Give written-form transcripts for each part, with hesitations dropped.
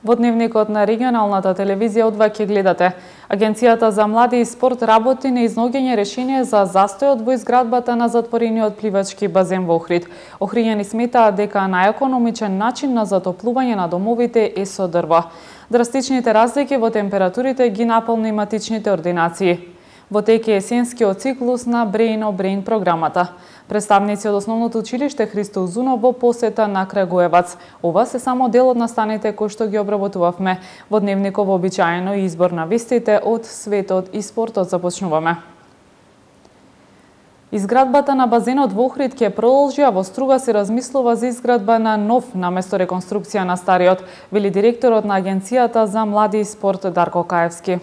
Во дневникот на регионалната телевизија од ова ќе гледате. Агенцијата за млади и спорт работи на изнаоѓање решение за застојот во изградбата на затворениот пливачки базен во Охрид. Охриѓани сметаат дека најекономичен начин на затоплување на домовите е со дрво. Драстичните разлики во температурите ги наполни матичните ординации. Во тек е есенскиот циклус на Brain програмата. Представници од основното училиште Христо Узунов во посета на Крагуевац. Ова се само дел од настаните кои што ги обработувавме. Во дневников вообичаено и избор на вестите од светот и спортот започнуваме. Изградбата на базенот во Охрид ќе продолжи, а во Струга се размислува за изградба на нов наместо реконструкција на стариот, вели директорот на Агенцијата за млади и спорт Дарко Каевски.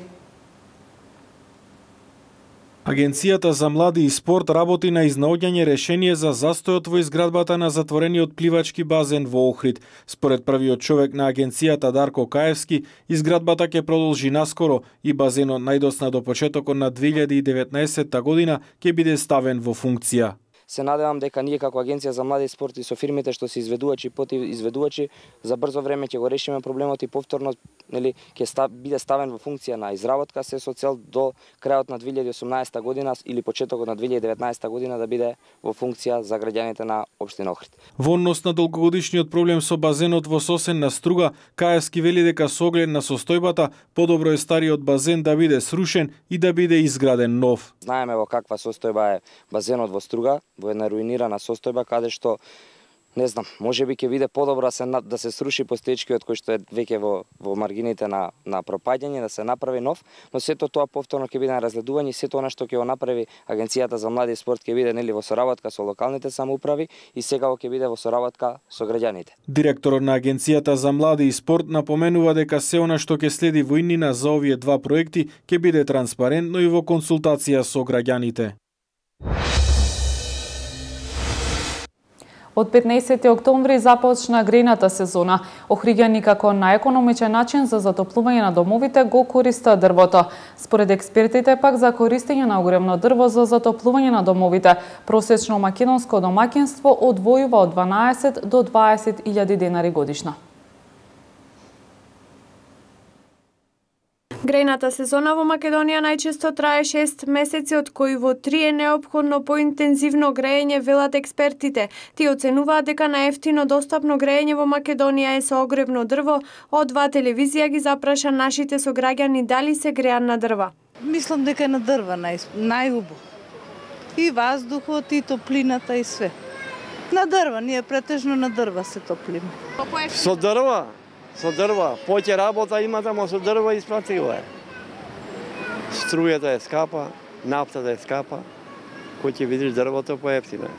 Агенцијата за млади и спорт работи на изнаоѓање решение за застојот во изградбата на затворениот пливачки базен во Охрид. Според првиот човек на агенцијата Дарко Каевски, изградбата ќе продолжи наскоро и базенот најдосна до почетокот на 2019 година ќе биде ставен во функција. Се надевам дека ние како Агенција за млади и спорт и со фирмите што се изведувачи и изведувачи за брзо време ќе го решиме проблемот и повторно ќе биде ставен во функција на изработка, се со цел до крајот на 2018 година или почетокот на 2019 година да биде во функција за граѓаните на општина Охрид. Во однос на долгогодишниот проблем со базенот во Сосен на Струга, Каевски вели дека со оглед на состојбата подобро е стариот базен да биде срушен и да биде изграден нов. Знаеме во каква состојба е базенот во Струга, во една руинирана состојба каде што не знам, можеби ќе биде подобро да се сруши постоечкиот кој што е веќе во маргините на пропаѓање, да се направи нов, но сето тоа повторно ќе биде на разгледување и сето она што ќе го направи Агенцијата за млади и спорт ќе биде во соработка со локалните самоуправи и секако ќе биде во соработка со граѓаните. Директорот на Агенцијата за млади и спорт напоменува дека се она што ќе следи во иднина за овие два проекти ќе биде транспарентно и во консултација со граѓаните. Од 15 октомври започна грејната сезона. Охриѓани како најекономичен начин за затоплување на домовите го користат дрвото. Според експертите пак за користење на огревно дрво за затоплување на домовите, просечно македонско домаќинство одвојува од 12 до 20.000 денари годишно. Грејната сезона во Македонија најчесто трае 6 месеци, од кои во 3 е неопходно поинтензивно грејење, велат експертите. Тие оценуваат дека најевтино достапно грејење во Македонија е со огревно дрво. Од ва телевизија ги запраша нашите сограѓани дали се греат на дрва. Мислам дека е на дрва најубаво. И ваздухот, и топлината, и све. На дрва, ние претежно на дрва се топлиме. Со дрва? Со дрва, поќе работа имате, ама со дрва испратила е. Струјата е скапа, нафтата е скапа, кој ќе видиш дрвото поевтино.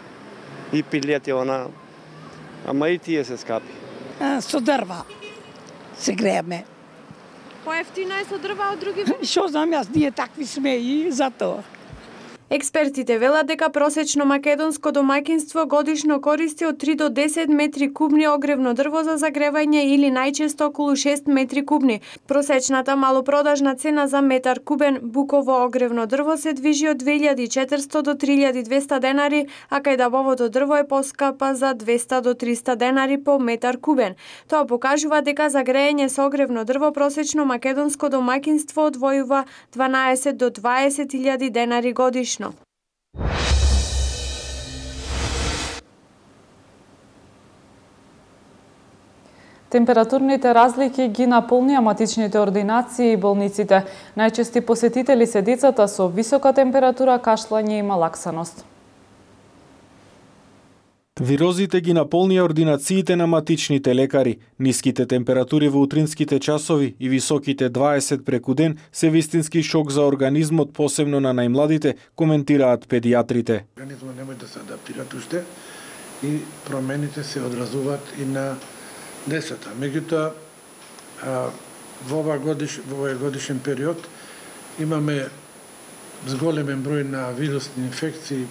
И пилети она, ама и тие се скапи. Со дрва се грееме. Поевтина е со дрва од други види? Што знам јас, ние такви сме и затоа. Експертите велат дека просечно македонско домаќинство годишно користи од 3 до 10 метри кубни огревно дрво за загревање или најчесто околу 6 метри кубни. Просечната малопродажна цена за метар кубен буково огревно дрво се движи од 2400 до 3200 денари, а кајдабовото дрво е поскапа за 200 до 300 денари по метар кубен. Тоа покажува дека за грејење со огревно дрво просечно македонско домаќинство одвојува 12 до 20.000 денари годишно. Температурните разлики ги наполнија матичните ординации и болниците. Најчести посетители се децата со висока температура, кашлање и малаксаност. Вирозите ги наполнија ординациите на матичните лекари. Ниските температури во утринските часови и високите 20 преку ден се вистински шок за организмот, посебно на најмладите, коментираат педиатрите. Организмот не може да се адаптира уште и промените се одразуваат и на децата. Меѓутоа, во овој годишен период имаме зголемен број на вирусни инфекции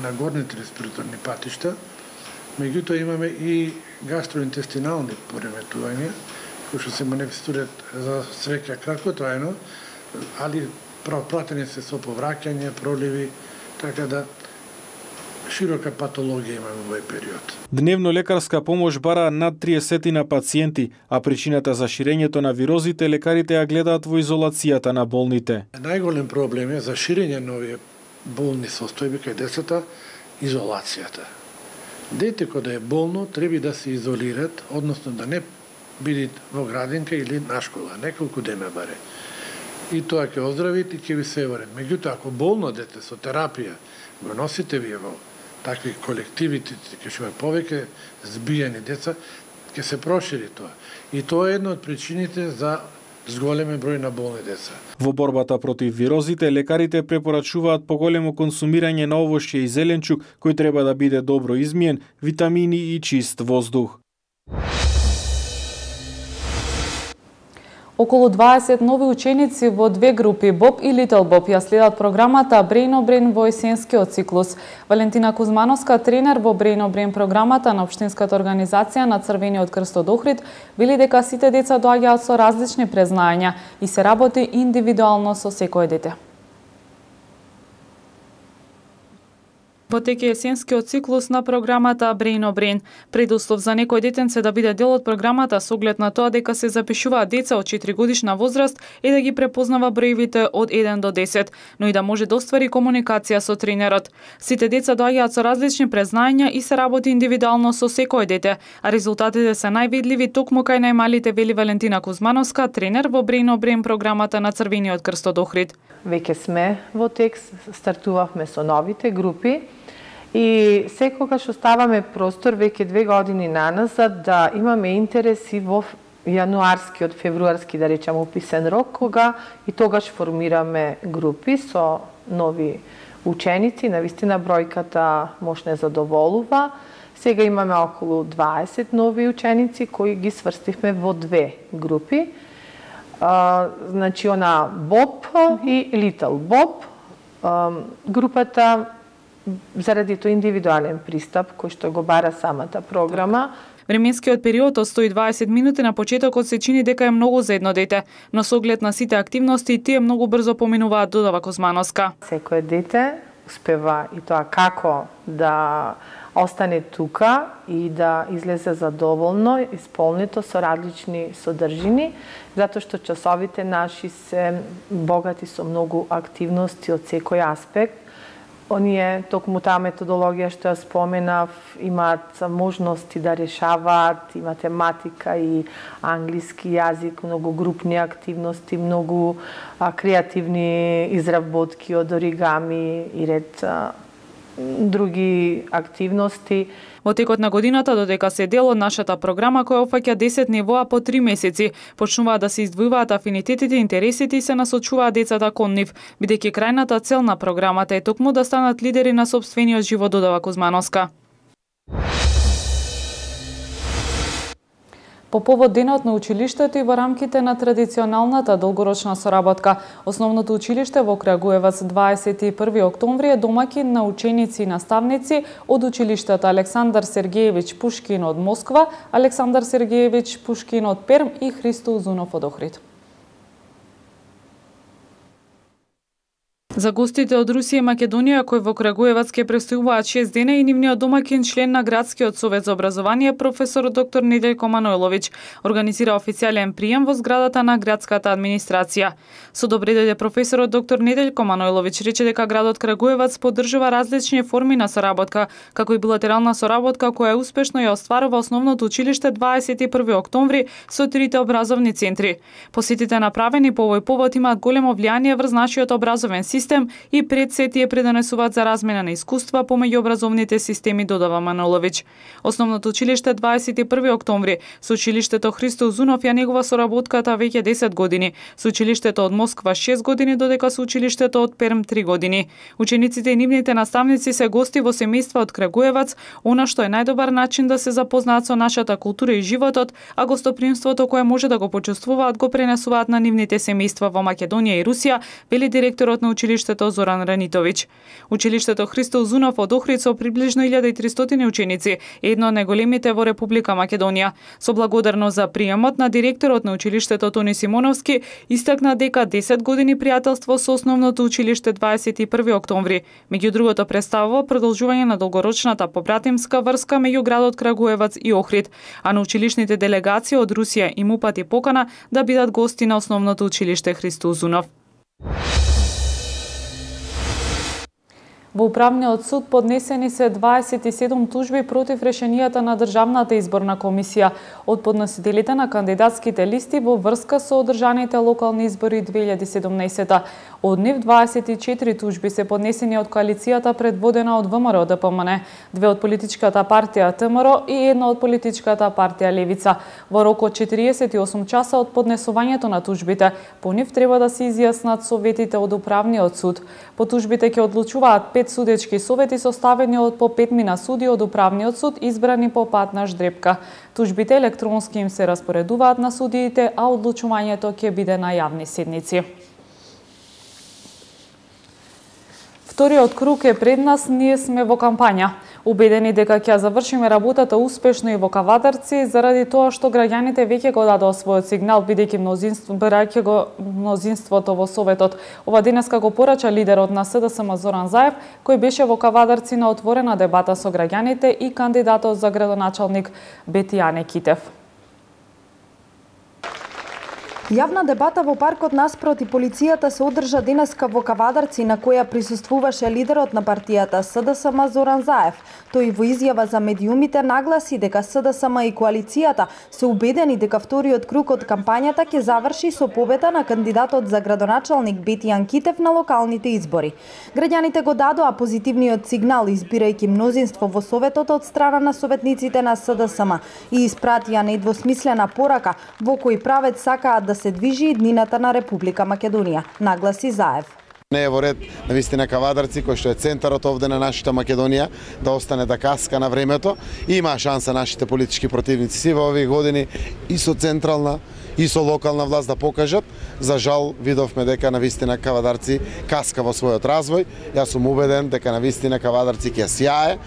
на горните респираторни патишта, меѓутоа имаме и гастроинтестинални пореметувања, кои што се манифестираат за среќа краткотрајно, али пратени се со повраќање, проливи, така да широка патологија имаме во овој период. Дневно лекарска помош бара над 30 на пациенти, а причината за ширењето на вирозите лекарите ја гледаат во изолацијата на болните. Најголем проблем е за ширење на овие болни состојби кај децата изолацијата. Дете кога е болно треба да се изолират, односно да не бидат во градинка или на школа, неколку дена баре. И тоа ќе оздравите и ќе ви се вред. Меѓутоа, ако болно дете со терапија го носите вие во такви колективи, ќе има повеќе збијани деца, ќе се прошири тоа. И тоа е една од причините за зголемен број на болни деца. Во борбата против вирозите, лекарите препорачуваат поголемо консумирање на овошје и зеленчук, кој треба да биде добро измиен, витамини и чист воздух. Околу 20 нови ученици во две групи Боб и Литл Боб ја следат програмата Brain on Brain во есенскиот циклус. Валентина Кузмановска, тренер во Brain on Brain програмата на Општинската организација на Црвениот крст од Охрид, вели дека сите деца доаѓаат со различни презнаења и се работи индивидуално со секое дете. Во теке есенскиот циклус на програмата Brain on Brain. Предуслов за некој детенце да биде дел од програмата со оглед на тоа дека се запишуваат деца од 4 годишна возраст и да ги препознава броевите од 1 до 10, но и да може да оствари комуникација со тренерот. Сите деца доаѓаат со различни презнаења и се работи индивидуално со секое дете, а резултатите се највидливи токму кај најмалите, вели Валентина Кузмановска, тренер во Brain on Brain програмата на Црвениот крст од Охрид. Веќе сме во текст, стартувавме со новите групи. И секогаш оставаме простор веќе 2 години наназад да имаме интереси во јануарски, од февруарски, да речам, описен рок, кога и тогаш формираме групи со нови ученици. Навистина бројката може не задоволува. Сега имаме околу 20 нови ученици кои ги сврстивме во две групи. Значи, она Боб и Литл Боб. Групата заради тој индивидуален пристап кој што го бара самата програма. Временскиот период од 120 минути на почетокот се чини дека е многу за едно дете, но со оглед на сите активности тие многу брзо поминуваат, додава Кузмановска. Секое дете успева и тоа како да остане тука и да излезе задоволно, исполнето со различни содржини, затоа што часовите наши се богати со многу активности од секој аспект. Оние, токму таа методологија што ја споменав, имаат можности да решаваат и математика и англиски јазик, многу групни активности, многу креативни изработки од оригами и ред други активности. Во текот на годината, додека се дел од нашата програма која опфаќа 10 нивоа по 3 месеци, почнуваат да се издвојуваат афинитетите, интересите и се насочуваат децата кон нив, бидејќи крајната цел на програмата е токму да станат лидери на сопствениот живот, додава Кузмановска. По повод денот на училиштето и во рамките на традиционалната долгорочна соработка, Основното училиште во Крагуевац 21 октомври е домаќин на ученици и наставници од училиштата Александар Сергеевич Пушкин од Москва, Александар Сергеевич Пушкин од Перм и Христо Узунов од Охрид. За гостите од Русија и Македонија кои во Крагуевац ќе престојуваат 6 дена и нивниот домаќин, член на Градскиот совет за образование, професор доктор Неделјко Манойлович, организира официјален прием во зградата на градската администрација. Со добре дојде професорот доктор Неделјко Манойлович рече дека градот Крагуевац поддржува различни форми на соработка, како и билатерална соработка која успешно ја остварува Основното училиште 21 октомври со трите образовни центри. Посетите направени по овој повод имаат големо влијание врз нашиот образовен систем и пред се тие предонесуваат за размена на искуства помеѓу образовните системи, додава Манолович. Основното училиште 21 октомври со училиштето Христо Узунов ја негува соработката веќе 10 години, со училиштето од Москва 6 години, додека со училиштето од Перм 3 години. Учениците и нивните наставници се гости во семејства од Крагуевац, она што е најдобар начин да се запознаат со нашата култура и животот, а гостопримството кое може да го почувствуваат го пренесуваат на нивните семејства во Македонија и Русија, вели директорот на училиштето училиштето Зоран Ранитовиќ. Училиштето Христо Узунов од Охрид со приближно 1300 ученици е едно од најголемите во Република Македонија. Со благодарност за приемот на директорот на училиштето Тони Симоновски истакна дека 10 години пријателство со основното училиште 21 октомври. Меѓу другото представува продолжување на долгорочната побратимска врска меѓу градот Крагуевац и Охрид, а на училишните делегации од Русија им упати покана да бидат гости на основното училиште Христо Узунов. Во Управниот суд поднесени се 27 тужби против решенијата на Државната изборна комисија од подносителите на кандидатските листи во врска со одржаните локални избори 2017. Од нив 24 тужби се поднесени од коалицијата предводена од ВМРО ДПМН, 2 од политичката партија ТМРО и 1 од политичката партија Левица. Во рок од 48 часа од поднесувањето на тужбите, по нив треба да се изјаснат советите од Управниот суд. По тужбите ќе одлучуваат 5 судечки совети составени од по 5 суди од Управниот суд избрани по пат на ждрепка. Тужбите електронски им се распоредуваат на судиите, а одлучувањето ќе биде на јавни седници. Вториот круг е пред нас, ние сме во кампања. Убедени дека ќе завршиме работата успешно и во Кавадарци, заради тоа што граѓаните веќе го дадоа својот сигнал, бидејќи мнозинството во Советот. Ова денеска го порача лидерот на СДСМ Зоран Заев, кој беше во Кавадарци на отворена дебата со граѓаните и кандидатот за градоначалник Бетијане Китев. Јавна дебата во паркот наспроти полицијата се одржа денеска во Кавадарци, на која присуствуваше лидерот на партијата СДСМ Зоран Заев. Тој во изјава за медиумите нагласи дека СДСМ и коалицијата се убедени дека вториот круг од кампањата ќе заврши со победа на кандидатот за градоначалник Бетијан Китев на локалните избори. Граѓаните го дадоа позитивниот сигнал избирајќи мнозинство во Советот од страна на советниците на СДСМ и испратија недвосмислена порака во кој правец сакаат да се движи иднината на Република Македонија, нагласи Заев. Не е во ред на вистина Кавадарци, кој што е центарот овде на нашата Македонија, да остане да каска на времето. Има шанса нашите политички противници си во овие години и со централна и со локална власт да покажат. За жал, видовме дека на вистина Кавадарци каска во својот развој. Јас сум убеден дека на вистина Кавадарци ќе сјае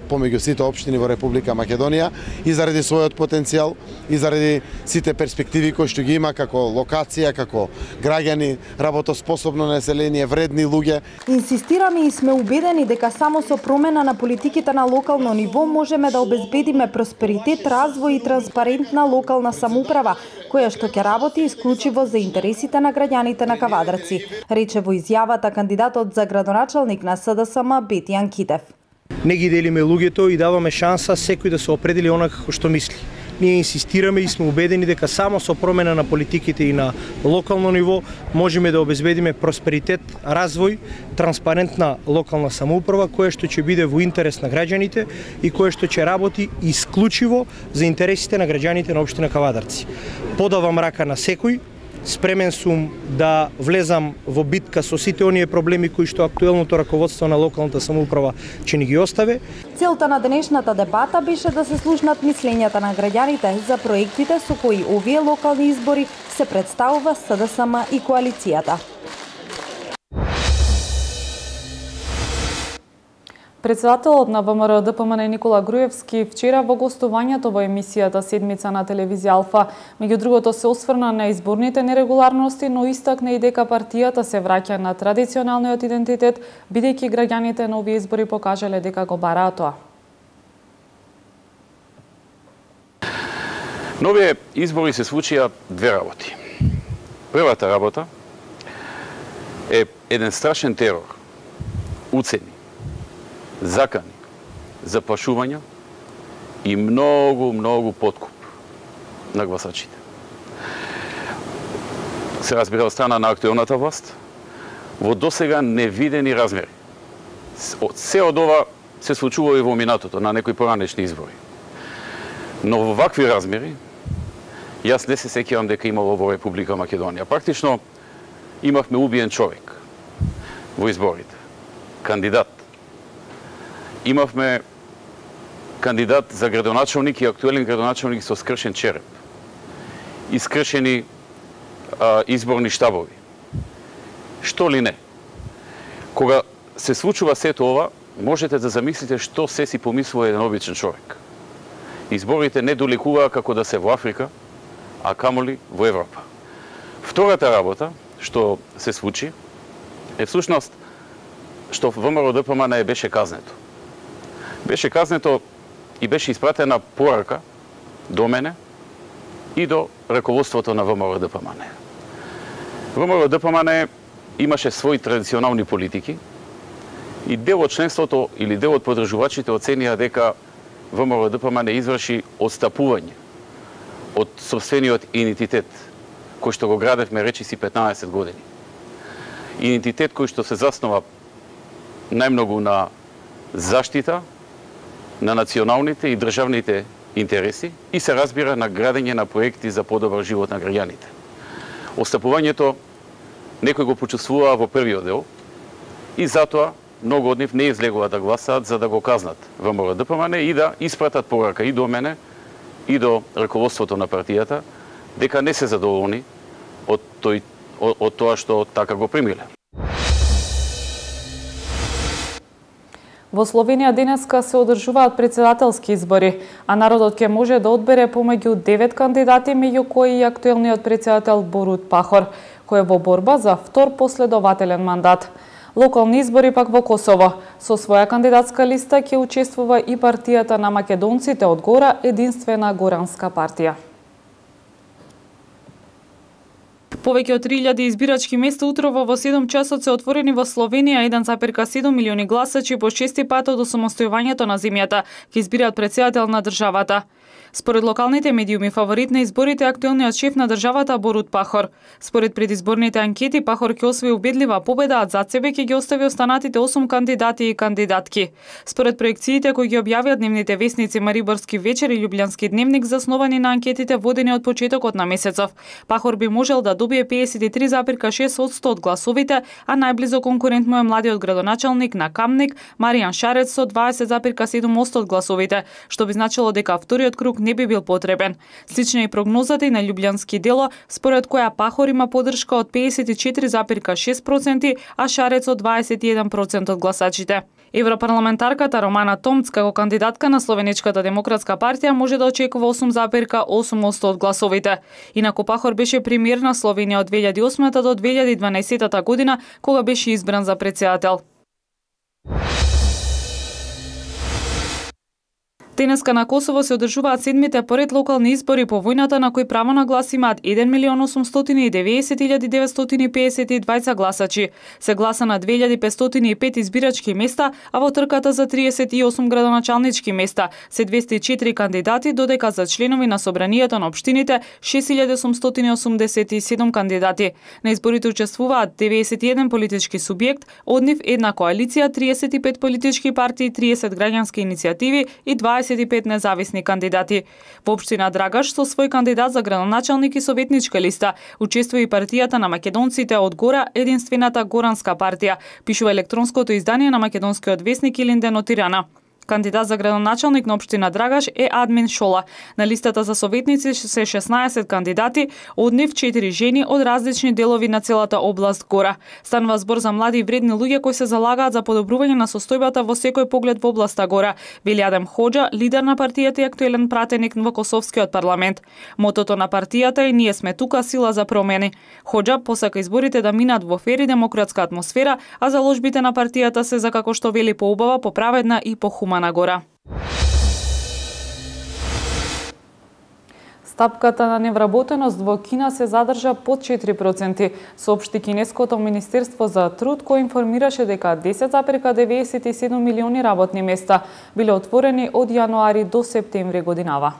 помеѓу сите општини во Република Македонија и заради својот потенцијал и заради сите перспективи кои што ги има како локација, како граѓани, работоспособно население, вредни луѓе. Инсистираме и сме убедени дека само со промена на политиките на локално ниво можеме да обезбедиме просперитет, развој и транспарентна локална самоуправа, која што ќе работи исклучиво за интересите на граѓаните на Кавадарци, рече во изјавата кандидатот за градоначалник на СДСМ Бетијан Китев. Не ги делиме луѓето и даваме шанса секој да се определи онака како што мисли. Ние инсистираме и сме убедени дека само со промена на политиките и на локално ниво можеме да обезбедиме просперитет, развој, транспарентна локална самоуправа која што ќе биде во интерес на граѓаните и која што ќе работи исклучиво за интересите на граѓаните на општина Кавадарци. Подавам рака на секој. Спремен сум да влезам во битка со сите оние проблеми кои што актуелното раководство на локалната самоуправа ќе ни ги остави. Целта на денешната дебата беше да се слушнат мислењата на граѓаните за проектите со кои овие локални избори се представува СДСМ и коалицијата. Председателот на ВМРО ДПМН Никола Груевски вчера во гостувањето во емисијата Седмица на телевизија Алфа, меѓу другото се осврна на изборните нерегуларности, но истакна и дека партијата се враќа на традиционалниот идентитет, бидејќи граѓаните на овие избори покажале дека го бараат тоа. На овие избори се случија две работи. Првата работа е еден страшен терор, уцени, закани, заплашувања и многу подкуп на гласачите. Се разбира од страна на актуелната власт во досега невидени размери. Се од ова се случува и во минатото на некои поранешни избори. Но во вакви размери јас не се сеќавам дека имало во Република Македонија. Практично имавме убиен човек во изборите, кандидат. Имавме кандидат за градоначалник и актуелен градоначалник со скршен череп, искршени изборни штабови. Што ли не? Кога се случува сето ова, можете да замислите што се си помислува еден обичен човек. Изборите не долекуваа како да се во Африка, а камоли во Европа. Втората работа што се случи е всушност што ВМРО-ДПМН беше казнето. Беше казнето и беше испратена порака до мене и до раководството на ВМРО-ДПМН. ВМРО-ДПМН имаше своји традиционални политики и дел од членството или дел од подржувачите оценија дека ВМРО-ДПМН изврши отстапување од сопствениот идентитет кој што го градевме речиси 15 години. Идентитет кој што се заснова најмногу на заштита на националните и државните интереси и се разбира на градење на проекти за подобар живот на граѓаните. Отстапувањето некој го почувствуваа во првиот дел и затоа многу од нив не излегува да гласаат за да го казнат ВМРО-ДПМН и да испратат порака и до мене и до раководството на партијата дека не се задоволни од тоа што така го примиле. Во Словенија денеска се одржуваат претседателски избори, а народот ќе може да одбере помеѓу 9 кандидати, меѓу кои и актуелниот претседател Борут Пахор, кој е во борба за втор последователен мандат. Локални избори пак во Косово. Со своја кандидатска листа ќе учествува и партијата на македонците од Гора, единствена горанска партија. Повеќе од 3000 избирачки места утрово во 7 часот се отворени во Словенија. 1,7 милиони гласачи по 6 пат од осамостојувањето на земјата ќе избираат претседател на државата. Според локалните медиуми, фаворит на изборите е актуелниот шеф на државата Борут Пахор. Според предизборните анкети, Пахор ќе освои убедлива победа, а зад себе ќе ги остави останатите 8 кандидати и кандидатки. Според проекциите кои ги објавија дневните весници Мариборски вечер и Љубљански дневник, засновани на анкетите водени од почетокот на месецов, Пахор би можел да добие 53,6% од гласовите, а најблизо конкурент му е младиот градоначалник на Камник, Маријан Шарец со 20,7% од гласовите, што би значило дека вториот круг не би бил потребен. Слична е и прогнозата и на Љубљански дело, според која Пахор има поддршка од 54,6%, а Шарец од 21% од гласачите. Европарламентарката Романа Томц како кандидатка на Словеничката демократска партија може да очекува 8,8% од гласовите. Инаку Пахор беше премиер на Словенија од 2008 до 2012 година, кога беше избран за претседател. Денеска на Косово се одржуваат седмите поред локални избори по војната на кои право на глас имаат 1.890.952 гласачи. Се гласа на 2505 избирачки места, а во трката за 38 градоначалнички места се 204 кандидати, додека за членови на собранието на општините 6887 кандидати. На изборите учествуваат 91 политички субјект, од нив една коалиција, 35 политички партии, 30 граѓански иницијативи и 25 независни кандидати. Во општина Драгаш со свој кандидат за градоначалник и советничка листа учествува и партијата на македонците од Гора, единствената горанска партија, пишува електронското издание на македонскиот весник Илинден од Тирана. Кандидат за градоначалник на општина Драгаш е Админ Шола. На листата за советници се 16 кандидати, од нив 4 жени од различни делови на целата област Гора. Станува збор за млади и вредни луѓе кои се залагаат за подобрување на состојбата во секој поглед во областа Гора, вели Адем Хоџа, лидер на партијата и актуелен пратеник во Косовскиот парламент. Мотото на партијата е "Ние сме тука, сила за промени". Хоџа посака изборите да минат во фер и демократска атмосфера, а заложбите на партијата се за, како што вели, поубава, поправедна и похумана Гора. Стапката на невработеност во Кина се задржа под 4%, соопшти кинеското Министерство за труд, кој информираше дека 10,97 милиони работни места биле отворени од јануари до септември годинава.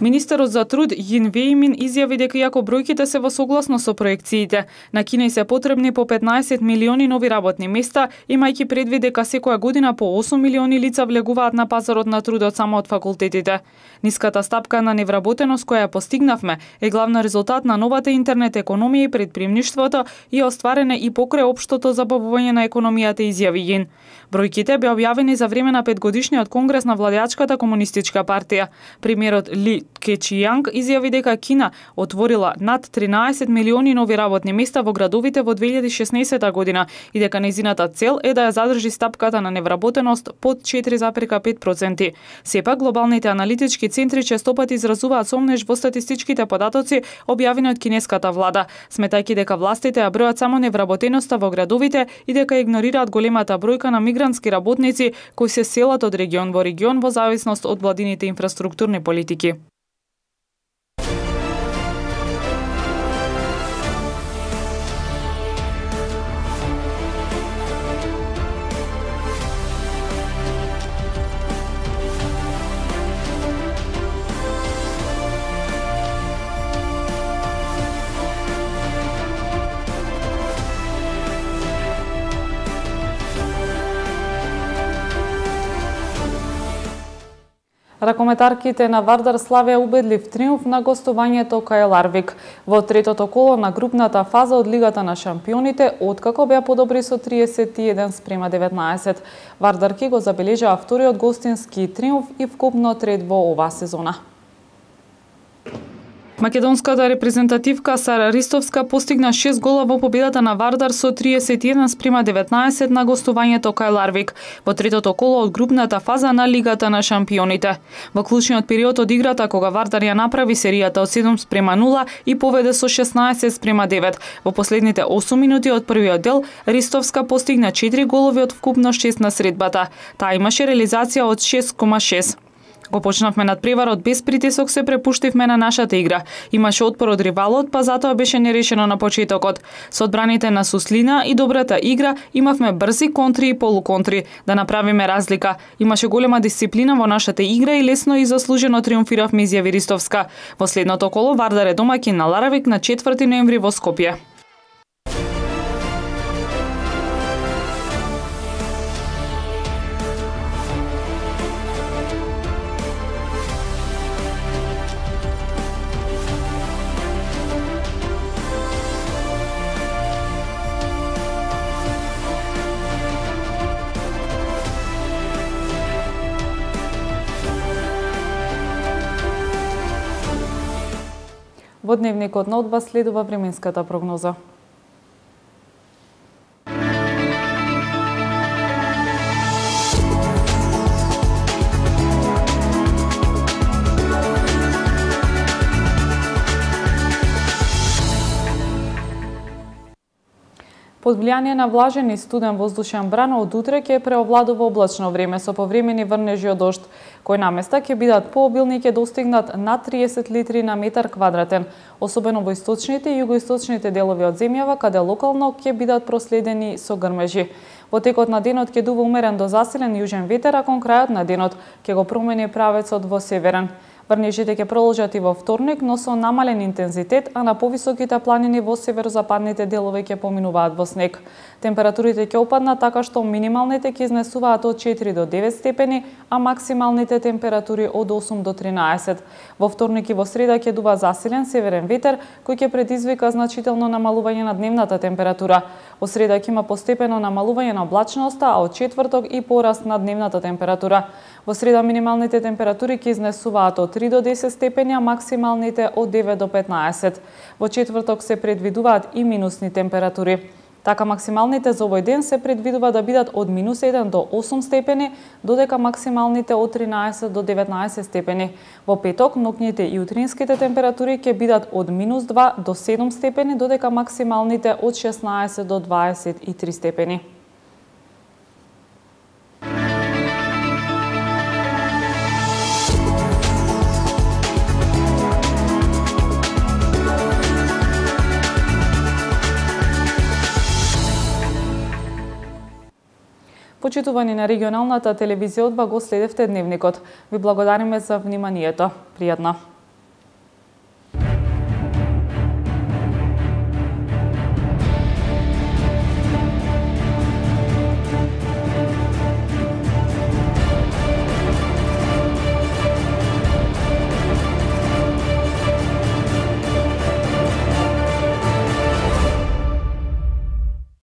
Министерот за труд Јин Вејмин изјави дека иако бројките се во согласно со проекциите, на Кина се потребни по 15 милиони нови работни места, имајќи предвид дека секоја година по 8 милиони лица влегуваат на пазарот на трудот само од факултетите. Ниската стапка на невработеност која постигнавме е главна резултат на новата интернет економија и предприемништвото и остварена и покрај општото забавување на економијата, изјави Јин. Бројките беа објавени за време на 5-годишниот конгрес на владеачката комунистичка партија. Премиерот Ли Кечијанг изјави дека Кина отворила над 13 милиони нови работни места во градовите во 2016 година и дека нејзината цел е да ја задржи стапката на невработеност под 4,5%. Сепак, глобалните аналитички центри честопат изразуваат сомнеж во статистичките податоци објавени од кинеската влада, сметајќи дека властите ја бројат само невработеноста во градовите и дека игнорираат големата бројка на мигрантски работници кои се селат од регион во регион во зависност од владините инфраструктурни политики. Ракометарките на Вардар славеа убедлив триумф на гостувањето кај Ларвик во третото коло на групната фаза од Лигата на шампионите, откако беа подобри со 31:19. Вардарки го забележаа вториот гостински триумф и вкупно трет во оваа сезона. Македонската репрезентативка Сара Ристовска постигна 6 гола во победата на Вардар со 31:19 на гостувањето кај Ларвик во третото коло од групната фаза на Лигата на шампионите. Во клучниот период од играта, кога Вардар ја направи серијата од 7:0 и поведе со 16:9, во последните 8 минути од првиот дел, Ристовска постигна 4 голови од вкупно 6 на средбата. Таа имаше реализација од 6,6. Го почнавме надпреварот без притисок, се препуштивме на нашата игра. Имаше отпор од ривалот, па затоа беше нерешено на почетокот. Со одбраните на Суслина и добрата игра имавме брзи контри и полуконтри да направиме разлика. Имаше голема дисциплина во нашата игра и лесно и заслужено триумфиравме, изјави Ристовска. Во следното коло Вардар е домаќин на Ларавик на 4 ноември во Скопје. Во дневникот на одба следува временската прогноза. Под влијание на влажен и студен воздушен бран, од утре ќе преовладува облачно време со повремени врнежи од дожд, кои наместа ќе бидат пообилни и ќе достигнат над 30 литри на метар квадратен, особено во источните и југоисточните делови од земјава, каде локално ќе бидат проследени со грмежи. Во текот на денот ќе дува умерен до засилен јужен ветер, а кон крајот на денот ќе го промени правецот во северен. Врнежите ќе продолжат и во вторник, но со намален интензитет, а на повисоките планини во северозападните делови ќе поминуваат во снег. Температурите ќе опаднат така што минималните ќе изнесуваат од 4 до 9 степени, а максималните температури од 8 до 13. Во вторник и во среда ќе дува засилен северен ветер, кој ќе предизвика значително намалување на дневната температура. Во среда ќе има постепено намалување на облачноста, а од четврток и пораст на дневната температура. Во среда минималните температури ќе изнесуваат од 3 до 10 степени, а максималните од 9 до 15. Во четврток се предвидуваат и минусни температури. Така максималните за овој ден се предвидува да бидат од -1 до 8 степени, додека максималните од 13 до 19 степени. Во петок ноќните и утринските температури ќе бидат од -2 до 7 степени, додека максималните од 16 до 23 степени. Почитувани на регионалната телевизија, одва го следевте дневникот. Ви благодариме за вниманието. Пријатно.